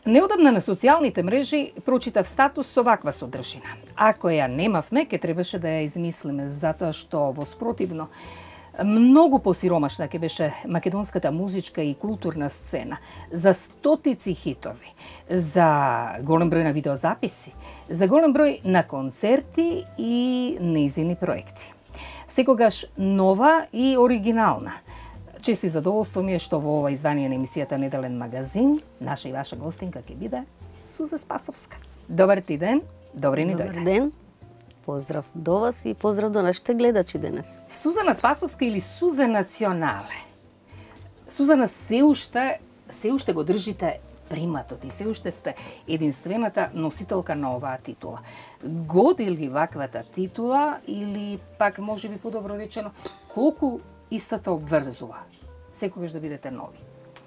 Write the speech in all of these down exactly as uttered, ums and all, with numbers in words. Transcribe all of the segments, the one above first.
Неодамна на социјалните мрежи прочитав статус со ваква содржина. Ако ја немавме, ке требаше да ја измислиме, затоа што во спротивно многу посиромашна ќе беше македонската музичка и културна сцена за стотици хитови, за голем број на видеозаписи, за голем број на концерти и нејзини проекти. Секогаш нова и оригинална. Чест и задоволство ми е што во ова издание на емисијата Неделен магазин, наша и ваша гостинка ќе биде Суза Спасовска. Добар ти ден, добри ни дојде. Добар ден, поздрав до вас и поздрав до нашите гледачи денес. Сузана Спасовска или Суза Национале. Сузана, се уште, се уште го држите приматот и се уште сте единствената носителка на оваа титула. Годи ли ваквата титула или пак може би подобро речено, колку истата обврзува? Секогаш да бидете нови,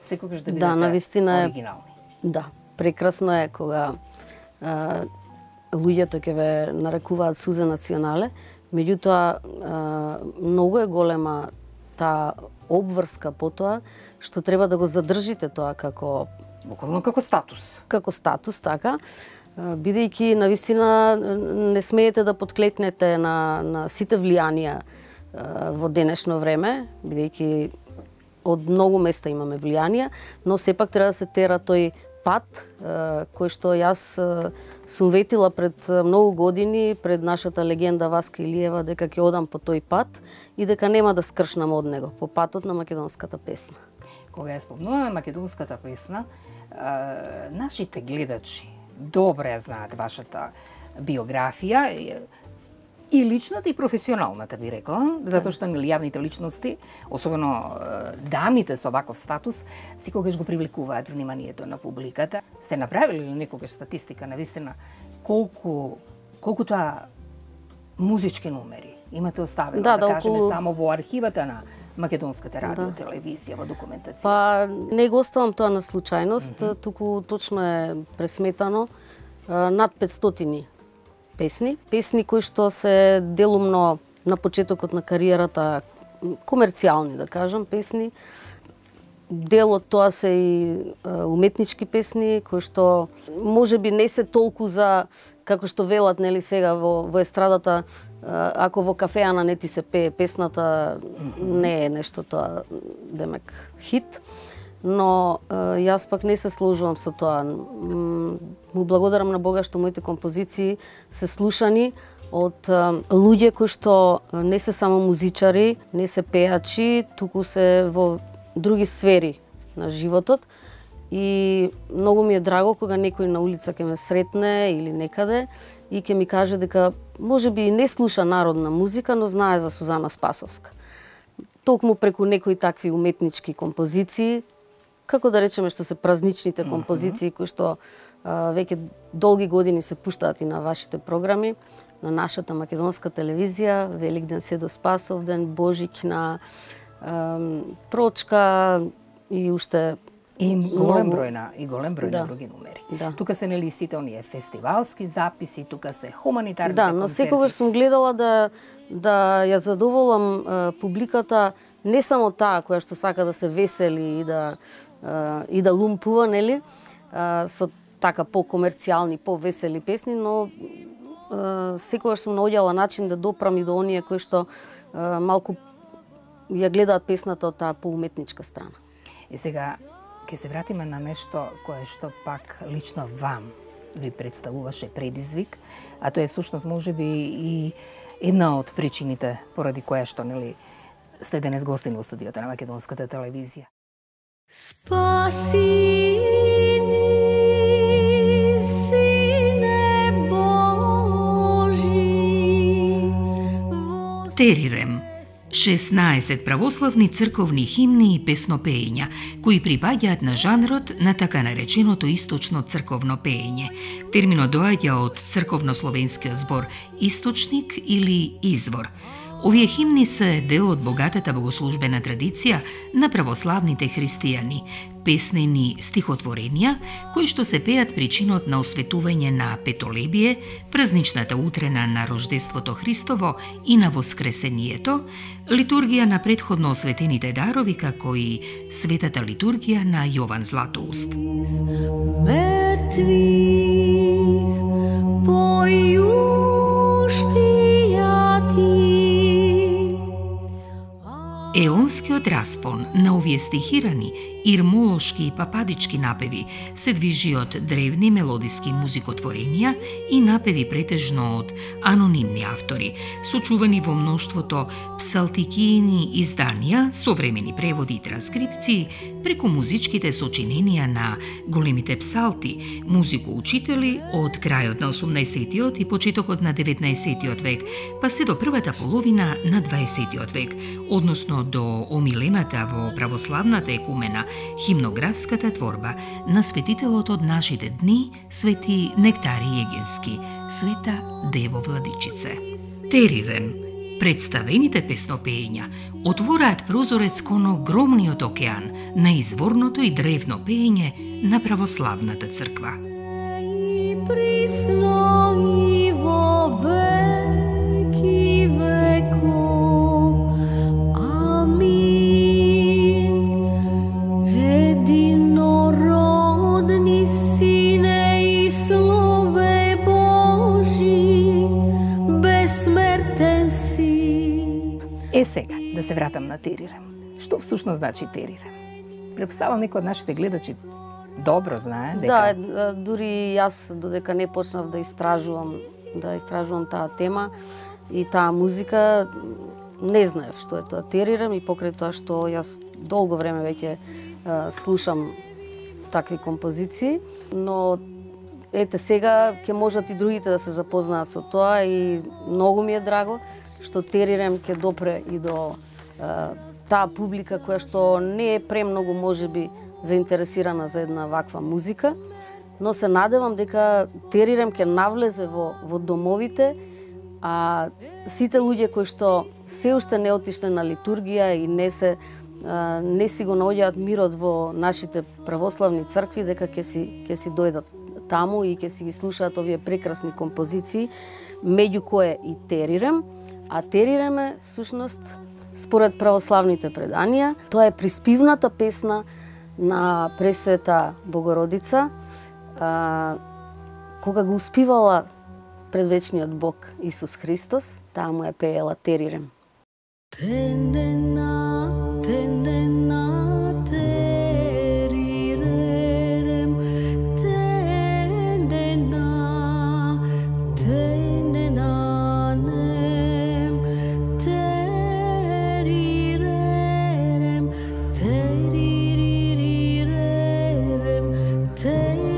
секогаш да бидете да, навистина оригинални. Е, да, прекрасно е кога а, луѓето ќе ве нарекуваат Суза Национале, меѓутоа а, многу е голема таа обврска по тоа што треба да го задржите тоа како буквално како статус. Како статус, така, бидејќи навистина не смеете да подклетнете на, на сите влијанија во денешно време, бидејќи од многу места имаме влијанија, но сепак треба да се тера тој пат кој што јас сум ветила пред многу години пред нашата легенда Васка Илиева дека ќе одам по тој пат и дека нема да скршнам од него, по патот на македонската песна. Кога ја спомнуваме македонската песна, нашите гледачи добре ја знаат вашата биографија, и личната и професионалната, би рекла, затоа што нели јавните личности, особено дамите со ваков статус, секогаш го привлекуваат вниманието на публиката. Сте направили ли некогаш статистика навистина колку колку тоа музички номери имате оставено, да, да, да кажеме околу... само во архивата на македонската радио, да, телевизија, во документација? Па не го оставам тоа на случајност, mm -hmm. туку точно е пресметано над петстотини песни, песни кои што се делумно на почетокот на кариерата комерцијални, да кажам, песни. Дел од тоа се и уметнички песни кои што можеби не се толку за како што велат нели сега во, во естрадата, ако во кафеана не ти се пее песната, не е нешто тоа демек хит. Но јас пак не се сложувам со тоа. Му благодарам на Бога што моите композиции се слушани од луѓе кои што не се само музичари, не се пеачи, туку се во други сфери на животот. И многу ми е драго кога некој на улица ќе ме сретне или некаде и ќе ми каже дека можеби не слуша народна музика, но знае за Сузана Спасовска. Токму преку некои такви уметнички композиции, како да речеме што се празничните композиции кои што а, веќе долги години се пуштаат и на вашите програми, на нашата македонска телевизија, Великден се до Спасовден, Божикна, а, Прочка и уште и голем број на и голем број да. на други номери. Да. Тука се нели сите оние фестивалски записи, тука се хуманитарни да, концерти. Да, но секогаш сум гледала да да ја задоволам а, публиката, не само таа која што сака да се весели и да а, и да лумпува, нели, а, со така по-комерцијални, по-весели песни, но а, секогаш сум наоѓала начин да допрам и до оние кои што а, малку ја гледаат песната од таа поуметничка страна. И сега ќе се вратиме на нешто кое што пак лично вам ви представуваше предизвик, а тоа е всушност можеби и една од причините поради која што нели сте денес гостин во студиото на македонската телевизија. Спаси ни, Сине Божи. Терирем. шеснаесет православни црковни химни и песнопеења, кои припаѓаат на жанрот на така нареченото источно црковно пеење. Терминот доаѓа од црковнословенскиот збор источник или извор. Овие химни се дел од богатата богослужбена традиција на православните христијани, песнени стихотворенија кои што се пеат причинот на осветување на Петолебие, празничната утрена на Рождеството Христово и на Воскресението, литургија на предходно осветените дарови како и светата литургија на Јован Златоуст. Еонскиот распон на овие стихирани, ирмолошки и пападички напеви се движи од древни мелодиски музикотворенија и напеви претежно од анонимни автори, сочувани во мноштвото псалтикиини изданија, современи преводи и транскрипции, преку музичките сочиненија на големите псалти, музикоучители од крајот на осумнаесеттиот и почетокот на деветнаесеттиот век, па се до првата половина на дваесеттиот век, односно до омилената во православната екумена химнографската творба на светителот од нашите дни, свети Нектари Егенски, Света Дево Владичице. Терирем, представените песнопења отвораат прозорец кон огромниот океан на изворното и древно пеење на православната црква. Е сега, да се вратам на терирем. Што всушност значи терирем? Препоставам некој од нашите гледачи добро знае дека... Да, дури јас додека не почнав да истражувам, да истражувам таа тема и таа музика, не знаев што е тоа терирем и покрај тоа што јас долго време веќе слушам такви композиции, но ете сега ќе можат и другите да се запознаат со тоа и многу ми е драго што терирем ќе допре и до е, таа публика која што не е премногу можеби заинтересирана за една ваква музика, но се надевам дека терирем ќе навлезе во, во домовите, а сите луѓе кои што се уште не отишле на литургија и не се а, не си го наоѓаат мирот во нашите православни цркви, дека ќе си ќе си дојдат таму и ќе си ги слушаат овие прекрасни композиции, меѓу кое и терирем. А терирем е, всушност, според православните преданија, тоа е приспивната песна на Пресвета Богородица, а, кога го успивала предвечниот Бог Исус Христос, таа му ја пеела терирем. Тенена, тенена, терирем, тенена, тенена. Thank you.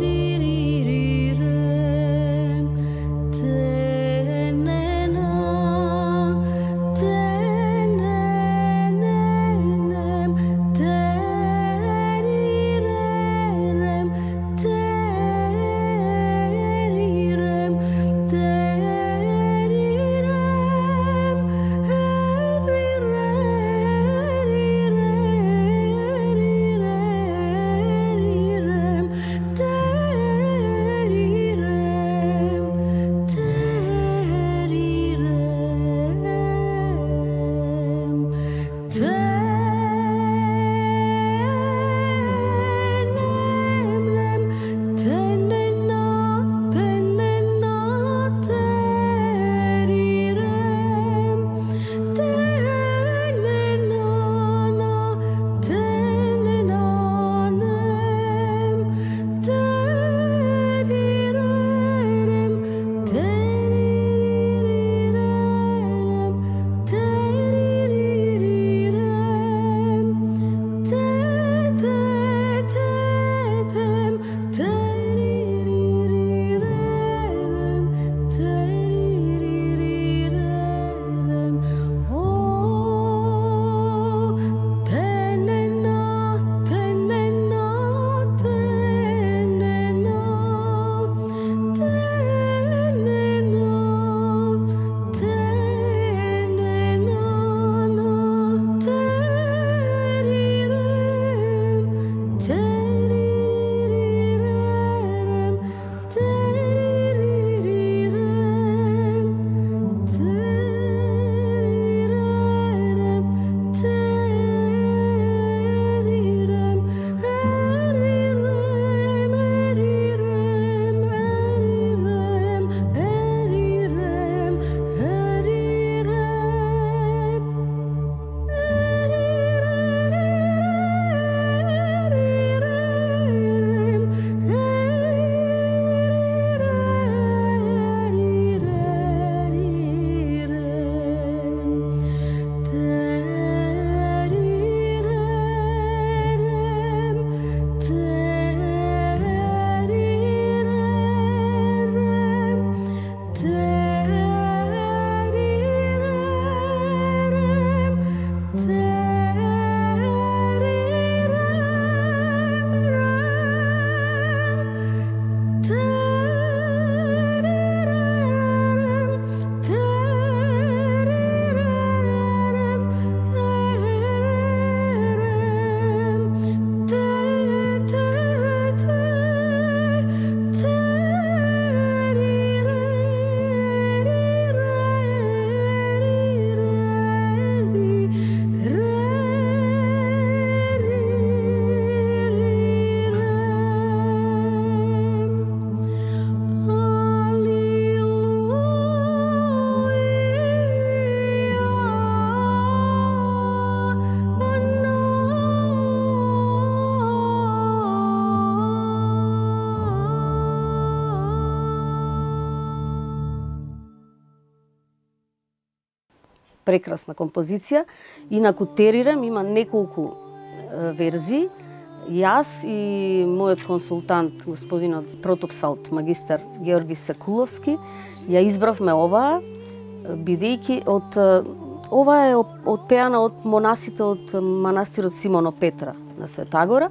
прекрасна композиција. Инаку Терирем има неколку верзии. Јас и мојот консултант, господинот протопсалт магистар Георги Секуловски, ја избравме оваа, бидејќи од оваа е отпеана од монасите од манастирот Симоно Петра на Светагора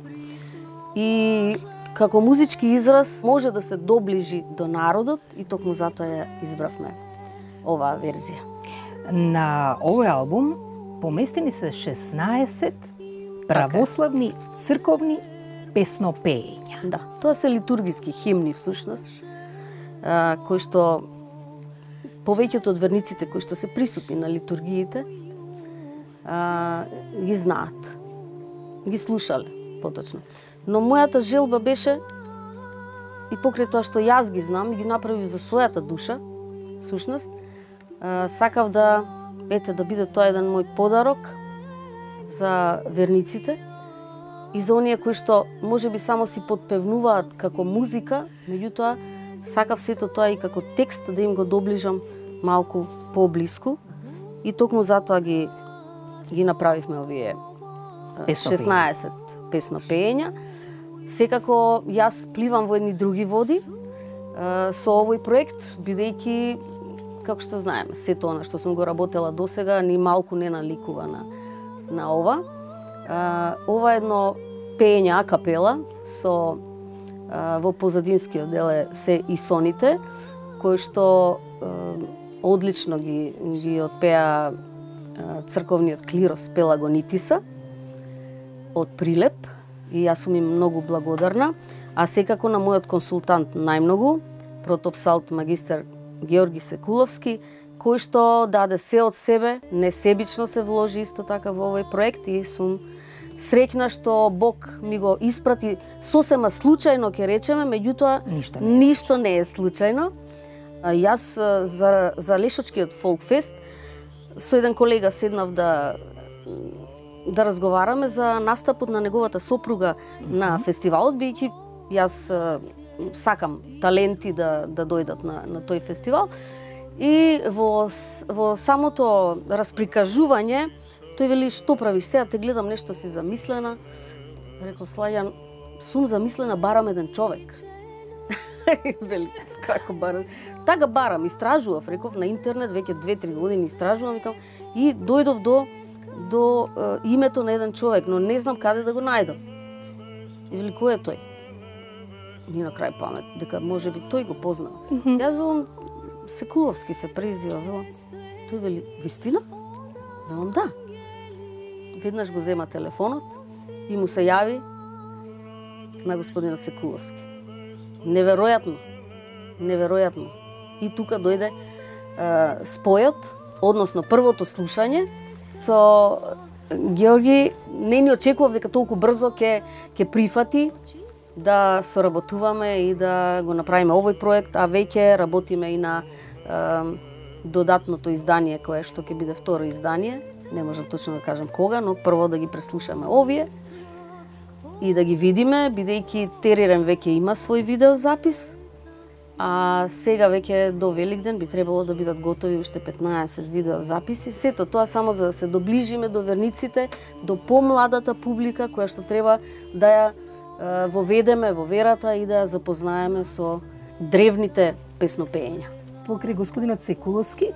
и како музички израз може да се доближи до народот и токму затоа ја избравме оваа верзија. На овој албум поместени се шеснаесет православни црковни песнопеења. Да, тоа се литургиски химни всушност, а, кои што повеќето од верниците кои што се присутни на литургиите а, ги знаат, ги слушале поточно. Но мојата желба беше и покрај тоа што јас ги знам и ги направив за својата душа, всушност, а, сакав да ете да биде тоа еден мој подарок за верниците и за оние кои што можеби само си подпевнуваат како музика, меѓутоа сакав сето тоа и како текст да им го доближам малку поблиску и токму затоа ги ги направивме овие шеснаесет песнопеења. Секако јас пливам во едни други води со овој проект, бидејќи како што знаеме, сето она што сум го работела досега ни малку не наликува на на ова. А, ова едно пеење акапела со а, во позадинскиот дел е се и соните кои што а, одлично ги ги отпеа а, црковниот клирос Пелагонитиса од Прилеп и јас сум им многу благодарна, а секако на мојот консултант најмногу, протопсалт магистар Георги Секуловски, кој што даде се од себе, несебично се вложи исто така во овој проект и сум среќна што Бог ми го испрати сосема случајно, ќе речеме, меѓутоа ништо не е, ништо не е случајно. А, јас за, за Лешочкиот фолкфест со еден колега седнав да да разговараме за настапот на неговата сопруга на фестивалот, бидејќи јас сакам таленти да да дојдат на на тој фестивал. И во, во самото расприкажување, тој вели, што правиш сега, те гледам нешто си замислена. Реков, Слаѓан, сум замислена, барам еден човек. Вели, како барам? Така барам, истражував, реков, на интернет, веќе две-три години истражувам, викам, и дојдов до, до е, името на еден човек, но не знам каде да го најдам. И вели, кој е тој? Ни на крај памет, дека може би тој го познава. Mm -hmm. Јас Секуловски се презива, велам. Тој вели, вистина? Велам, да. Веднаш го зема телефонот и му се јави на господинот Секуловски. Неверојатно. Неверојатно. И тука дојде е, спојот, односно првото слушање со Георги. Не ни очекував дека толку брзо ќе ќе прифати да соработуваме и да го направиме овој проект, а веќе работиме и на е, додатното издание кое што ќе биде второ издание. Не можам точно да кажам кога, но прво да ги преслушаме овие и да ги видиме, бидејќи Терирем веќе има свој видеозапис, а сега веќе до Великден би требало да бидат готови уште петнаесет видеозаписи. Сето тоа само за да се доближиме до верниците, до помладата публика која што треба да ја воведеме во верата и да ја запознаеме со древните песнопеења. Покрај господинот Секуловски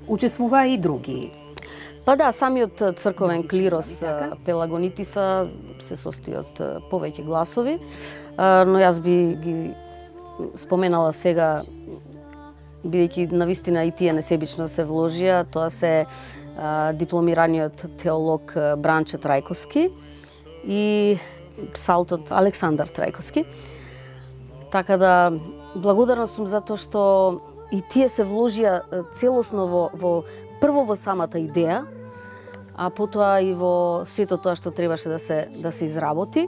учествуваа и други. Па да, самиот црковен клирос Пелагонитиса се состои од повеќе гласови, но јас би ги споменала сега, бидејќи навистина и тие несебично се вложија, тоа се дипломираниот теолог Бранче Трајковски и псалтот Александар Трајковски. Така да, благодарна сум за тоа што и тие се вложија целосно во, во прво во самата идеја, а потоа и во сето тоа што требаше да се да се изработи.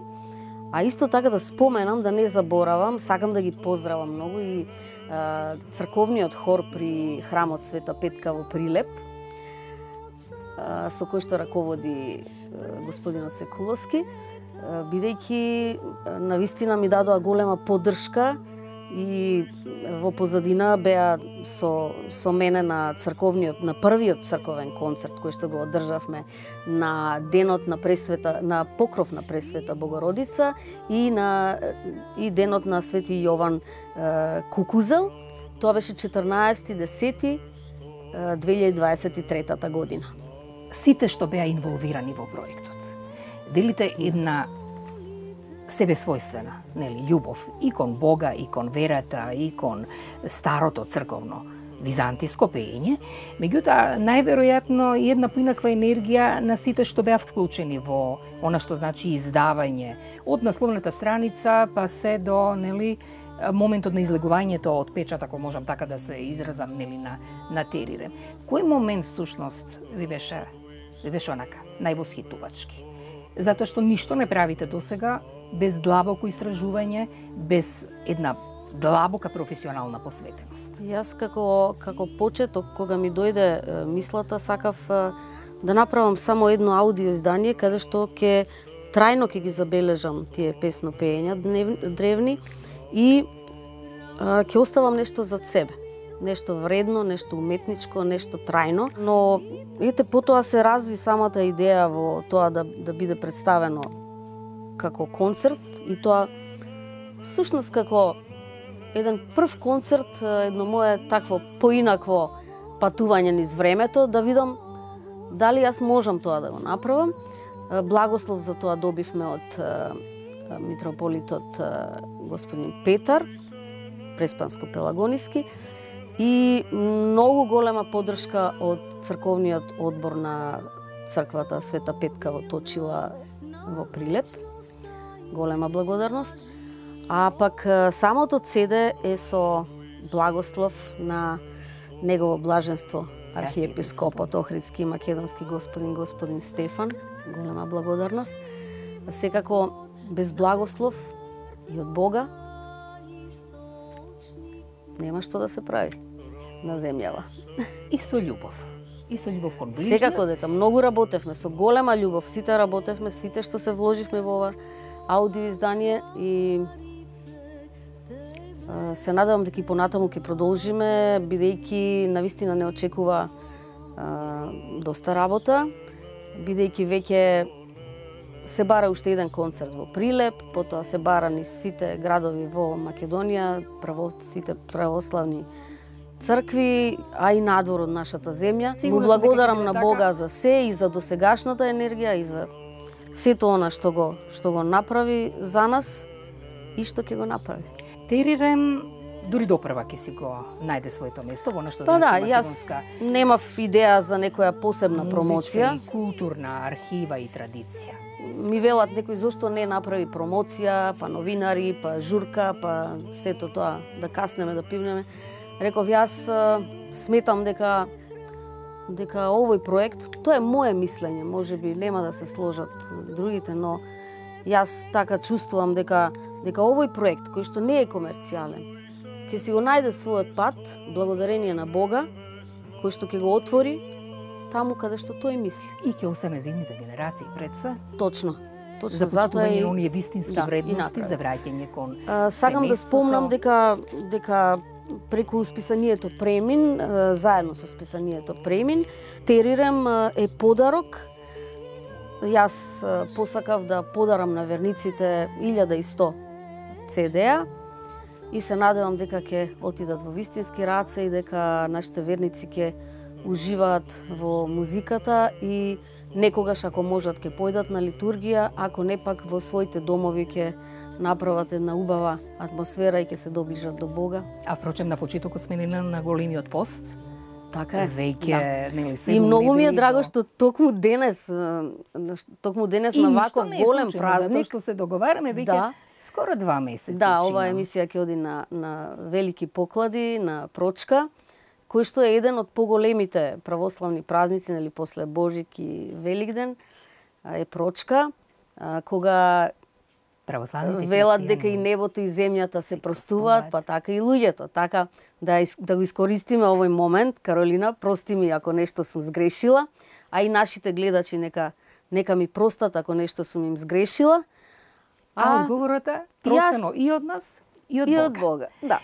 А исто така да споменам, да не заборавам, сакам да ги поздравам многу и а, црковниот хор при храмот Света Петка во Прилеп, а, со кој што раководи а, господинот Секуловски, бидејќи навистина ми дадоа голема поддршка и во позадина беа со, со мене на црковниот, на првиот црковен концерт кој што го одржавме на денот на пресвета, на покров на Пресвета Богородица и на и денот на Свети Јован е, Кукузел. Тоа беше четрнаесети десети две илјади дваесет и трета година. Сите што беа инволвирани во проектот, делите една себе својствена, нели, љубов и кон Бога, и кон верата, и кон старото црковно византиско пеење, меѓутоа најверојатно и една поинаква енергија на сите што беа вклучени во она што значи издавање од насловната страница па се до, нели, моментот на излегувањето од печат, ако можам така да се изразам, нели, на на Терирем. Кој момент всушност ви беше ви беше онака највосхитувачки? Затоа што ништо не правите досега без длабоко истражување, без една длабока професионална посветеност. Јас како како почеток, кога ми дојде е, мислата, сакав е, да направам само едно аудио издание каде што ќе трајно ќе ги забележам тие песно пеења древни и а, ќе оставам нешто зад себе. Нешто вредно, нешто уметничко, нешто трајно. Но ете, потоа се разви самата идеја во тоа да, да биде представено како концерт и тоа всушност како еден прв концерт, едно мое такво поинакво патување низ времето, да видам дали јас можам тоа да го направам. Благослов за тоа добивме од митрополитот господин Петар, Преспанско-Пелагониски, и многу голема поддршка од црковниот одбор на црквата Света Петка во Точила во Прилеп. Голема благодарност. А пак самото седе е со благослов на негово блаженство архиепископот Охридски и Македонски господин господин Стефан. Голема благодарност. Секако без благослов и од Бога нема што да се прави на земјава. И со љубов. И со љубов кон ближниот. Секако дека многу работевме, со голема љубов, сите работевме, сите што се вложивме во ова аудио издание и а, се надевам дека и понатаму ќе продолжиме, бидејќи навистина не очекува а, доста работа, бидејќи веќе се бара уште еден концерт во Прилеп, потоа се бара низ сите градови во Македонија, право, сите православни цркви, а и надвор од нашата земја. Му благодарам на Бога за се и за досегашната енергија и за сето она што го што го направи за нас и што ќе го направи. Терирем дури допрва ќе си го најде своето место во нешто Па значи да, македонска. Јас немав идеја за некоја посебна промоција. Музичка и културна архива и традиција. Ми велат некој зошто не направи промоција, па новинари, па журка, па сето тоа, да каснеме, да пивнеме. Реков, јас сметам дека дека овој проект, тоа е мое мислење, можеби нема да се сложат другите, но јас така чувствувам дека дека овој проект кој што не е комерцијален, ќе си го најде својот пат благодарение на Бога, кој што ќе го отвори таму каде што тој мисли. И ќе остане за идните генерации пред се. Точно. Точно За затоа почитување и на оние вистински да, вредности, за враќање кон А, сакам да спомнам дека дека преку списанието Премин, а, заедно со списанието Премин, Терирем а, е подарок. Јас а, посакав да подарам на верниците илјада и сто цедеа и се надевам дека ќе отидат во вистински раце и дека нашите верници ќе уживаат во музиката и некогаш ако можат ќе појдат на литургија, ако не пак во своите домови ќе направат една убава атмосфера и ќе се доближат до Бога. А впрочем на почетокот сме на, на големиот пост. Така е. Веќе, Да. нели, И седум многу ми е недели драго до- што токму денес, е, токму денес И на ништо ваков не е голем случајно, затоа празник. што се договараме веќе Да. скоро два месеци. Да, чина. ова емисија ќе оди на, на велики поклади, на Прочка, кој што е еден од поголемите православни празници, нели после Божик и Великден, а, е Прочка, а, кога Православните велат христијани дека и небото и земјата се се простуваат, простуваат. па така и луѓето. Така да ис- да го искористиме овој момент, Каролина, прости ми ако нешто сум сгрешила, а и нашите гледачи нека нека ми простат ако нешто сум им сгрешила. А одговорот е простено и од нас И од И Бога. од Бога, да.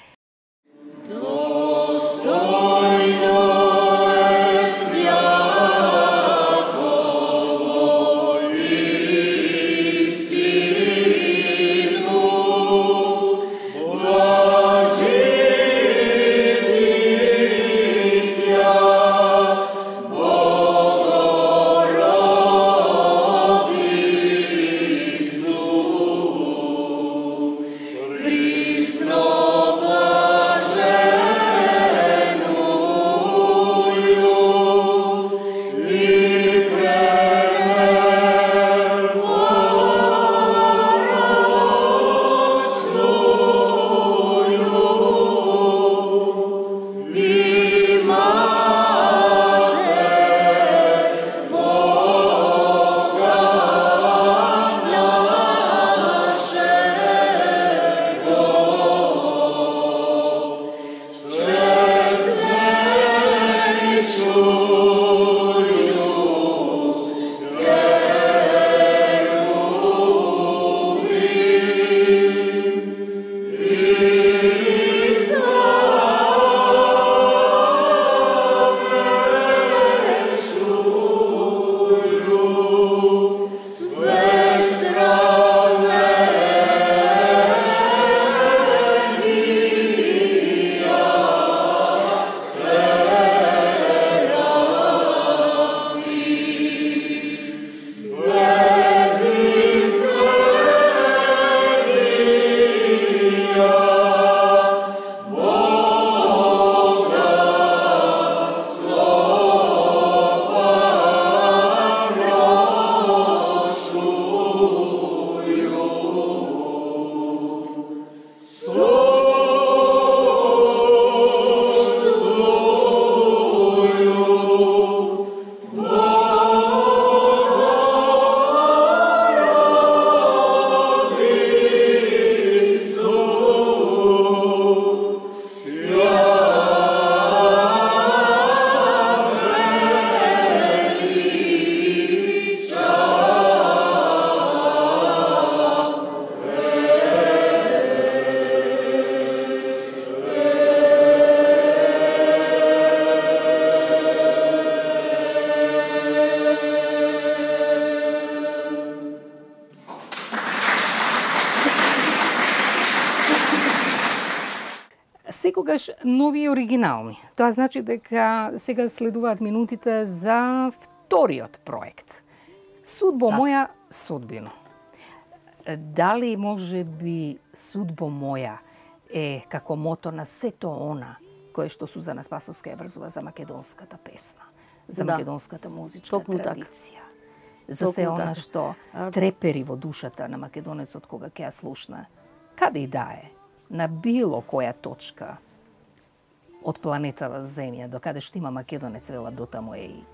Секогаш нови и оригинални. Тоа значи дека сега следуваат минутите за вториот проект. Судбо Так. моја, судбино. Дали може би судбо моја е како мото на сето она кое што Сузана Спасовска ја врзува за македонската песна, за Да. македонската музичка Токму така. традиција. За се Токму она така. што А, трепери во душата на македонецот кога ќе ја слушна, каде и да е, на било која точка од планетава Земја, до каде што има македонец, вела дотаму е и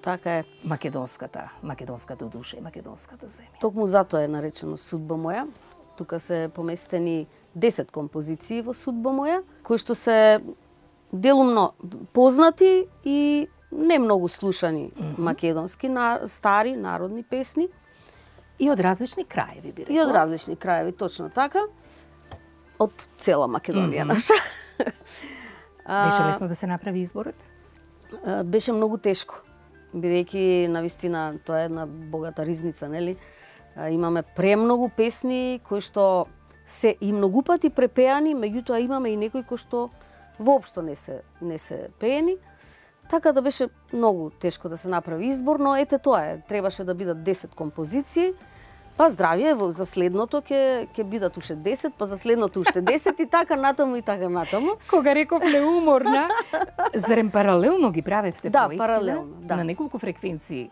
Така е. македонската, македонската душа и македонската земја. Токму затоа е наречено Судба моја. Тука се поместени десет композиции во Судба моја, кои што се делумно познати и не многу слушани mm -hmm. македонски на, стари народни песни И од различни краеви, би рекла. и од различни краеви, точно така, од цела Македонија mm -hmm. наша. Беше лесно да се направи изборот? А, беше многу тешко, бидејќи навистина тоа е една богата ризница, нели? А, имаме премногу песни кои што се и многу пати препеани, меѓутоа имаме и некои кои што воопшто не се не се пеени. Така да беше многу тешко да се направи избор, но ете тоа е, требаше да бидат десет композиции. Па здравје, во за следното ќе ќе бидат уште десет, па за следното уште десет и така натаму и така натаму. Кога реков неуморна, зарем паралелно ги правевте Да, проектите? паралелно, да. На неколку фреквенции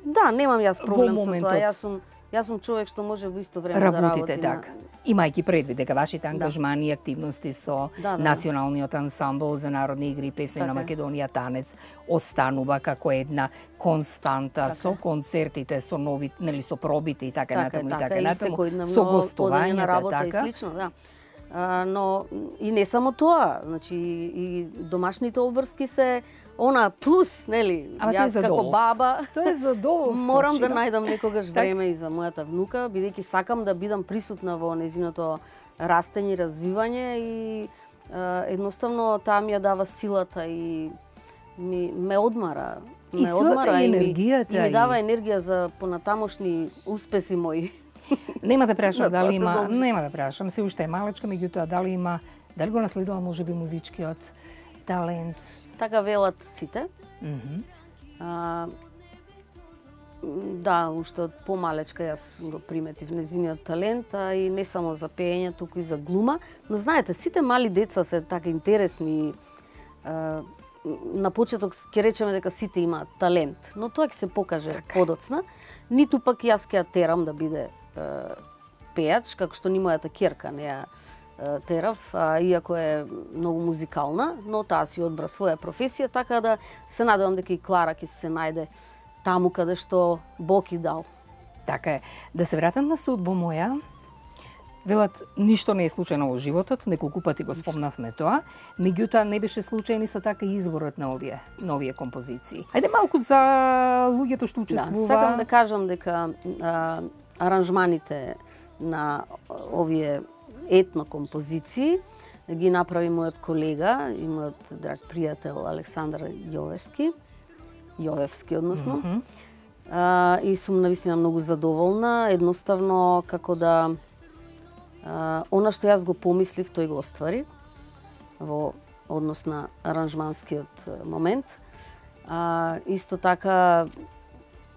Да, немам јас проблем Во со моментот. тоа. Јас сум јас сум човек што може во исто време работите да работи така. на... Имајќи предвид дека вашите ангажмани и активности со Да, да. Националниот ансамбл за народни игри и песни Така на е. Македонија Танец останува како една константа Така со е. концертите, со нови, нели со пробите и така, Така натаму е, и така, така и натаму, секојдневно со одење на гостувањата работа така. и слично, да. А, но и не само тоа, значи и домашните обврски се она плюс, нели, Ама јас како баба, тоа е задоволство. морам да Широ. најдам некогаш време и за мојата внука, бидејќи сакам да бидам присутна во незиното растење и развивање и е, едноставно таа ми ја дава силата и ми ме одмара, И ме силата одмара и и, ми, енергијата и ми и- дава енергија за понатамошни успеси мои. Нема да прашам На тоа дали се има, должи. нема да прашам, се уште е малечка, меѓутоа дали има, дали го наследува можеби музичкиот талент. Така велат сите. Мгм. А, да, уште од помалечка јас го приметив незиниот талент, а и не само за пеење, туку и за глума. Но знаете, сите мали деца се така интересни. А, на почеток ќе речеме дека сите имаат талент, но тоа ќе се покаже Така. подоцна. Ниту пак јас ќе ја терам да биде е, пејач, како што ни мојата ќерка не ја е, терав, а, иако е многу музикална, но таа си одбра своја професија, така да се надевам дека и Клара ќе се најде таму каде што Бог и дал. Така е. Да се вратам на судбо моја. Велат, ништо не е случајно во животот, неколку пати го спомнавме тоа, меѓутоа не беше случајен исто така и изборот на овие, на овие композиции. Ајде малку за луѓето што Да, учествува. сакам да кажам дека а, аранжманите на овие етно композиции ги направи мојот колега и мојот драг пријател Александар Јовевски, Јовевски односно. Мгм. А, и сум навистина многу задоволна, едноставно како да а, она што јас го помислив, тој го оствари во однос на аранжманскиот момент. А, исто така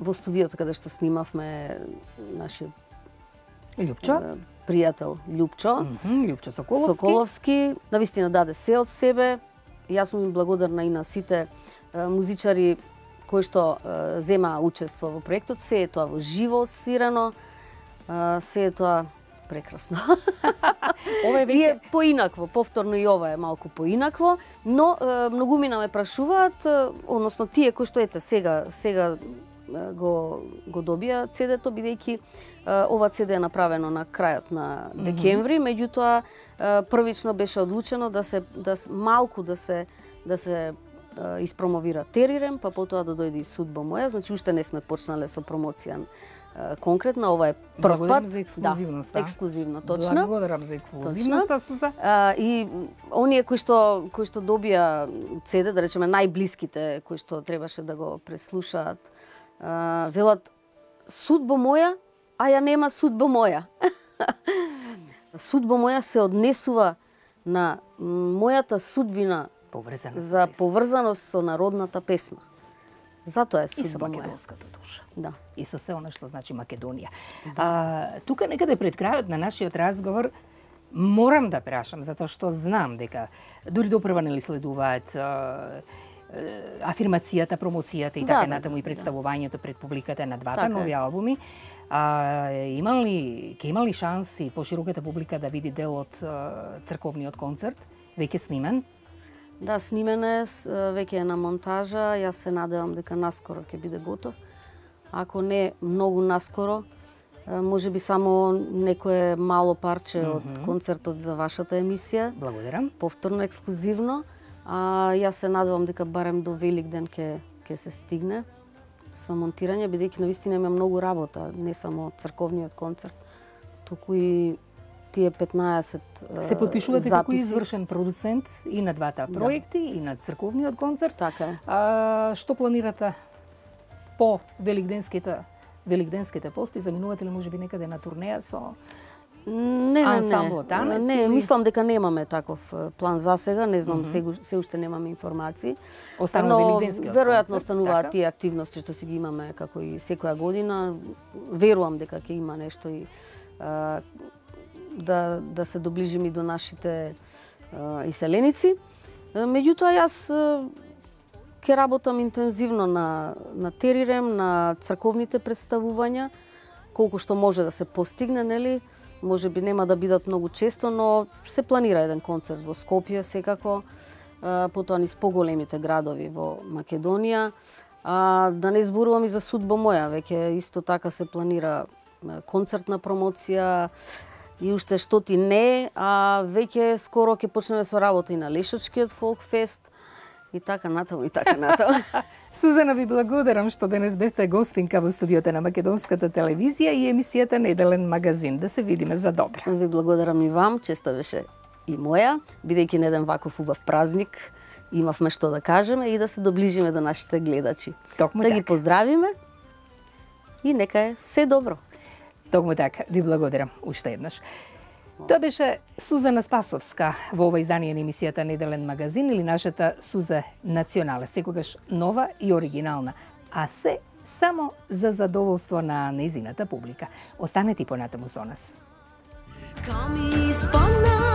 во студиото каде што снимавме нашиот Лјупчо? е, пријател Лјупчо Мгм, Лјупчо Соколовски. Соколовски, навистина даде се од себе. Јас сум им благодарна и на сите е, музичари кои што е, зема учество во проектот. Се е тоа во живо свирано, е, се е тоа прекрасно. Ова е И веќе е поинакво, повторно и ова е малку поинакво, но е, многумина ме прашуваат, е, односно тие кои што ете сега сега е, го го добија цедето, бидејќи е, ова цеде е направено на крајот на декември, меѓутоа е, првично беше одлучено да се да с- малку да се да се е, испромовира Терирем, па потоа да дојде и судба моја, значи уште не сме почнале со промоција е, конкретна, ова е прв Благодарам пат. за ексклузивноста. Да, ексклузивно, точно. Благодарам за ексклузивноста, Суза. А, и оние кои што кои што добија цеде, да речеме најблиските кои што требаше да го преслушаат, а, велат судба моја, а ја нема судба моја. Судба моја се однесува на мојата судбина Поврзана за поврзаност со народната песна. Затоа е и со судба моја. македонската душа. Да. И со се она што значи Македонија. А, тука некаде пред крајот на нашиот разговор морам да прашам, затоа што знам дека дури допрва нели следуваат а, е, афирмацијата, промоцијата и Да, така да, натаму да, и представувањето пред публиката на двата Така е. нови албуми. А, има ли, ќе има ли шанси пошироката публика да види дел од а, црковниот концерт, веќе снимен? Да, снимен е, с- веќе е на монтажа, јас се надевам дека наскоро ќе биде готов. Ако не многу наскоро, е, може би само некое мало парче од концертот за вашата емисија, Благодарам. повторно ексклузивно, а јас се надевам дека барем до Великден ќе ќе се стигне со монтирање, бидејќи навистина има многу работа, не само црковниот концерт, туку и тие петнаесет е, Се подпишувате како записи. извршен продуцент и на двата проекти, и на црковниот концерт. Така е. А, што планирате по великденските великденските пости? Заминувате ли можеби некаде на турнеја со Не, не, ансамблот не. Танец Не, или- мислам дека немаме таков е, план за сега, не знам, mm -hmm. се уште немаме информации. Останува Но великденскиот веројатно концерт, остануваат така? тие активности што си ги имаме како и секоја година. Верувам дека ќе има нешто и а, да да се доближиме и до нашите а, иселеници. А, Меѓутоа јас а, ќе работам интензивно на на Терирем, на црковните представувања, колку што може да се постигне, нели? Може би нема да бидат многу често, но се планира еден концерт во Скопје секако, а, потоа низ поголемите градови во Македонија. А, да не зборувам и за судба моја, веќе исто така се планира а, концертна промоција и уште што ти не, а веќе скоро ќе почнеме со работа и на Лешочкиот фолк фест. И така натаму, и така натаму. Сузана, ви благодарам што денес бевте гостинка во студиото на Македонската телевизија и емисијата Неделен магазин. Да се видиме за добро. Ви благодарам и вам, често беше и моја, бидејќи на еден ваков убав празник, имавме што да кажеме и да се доближиме до нашите гледачи. Токму да така. ги поздравиме и нека е се добро. Токму така, ви благодарам уште еднаш. Тоа беше Сузана Спасовска во ова издание на емисијата Неделен магазин или нашата Суза Национале, секогаш нова и оригинална, а се само за задоволство на нејзината публика. Останете и понатаму со нас. Come sponna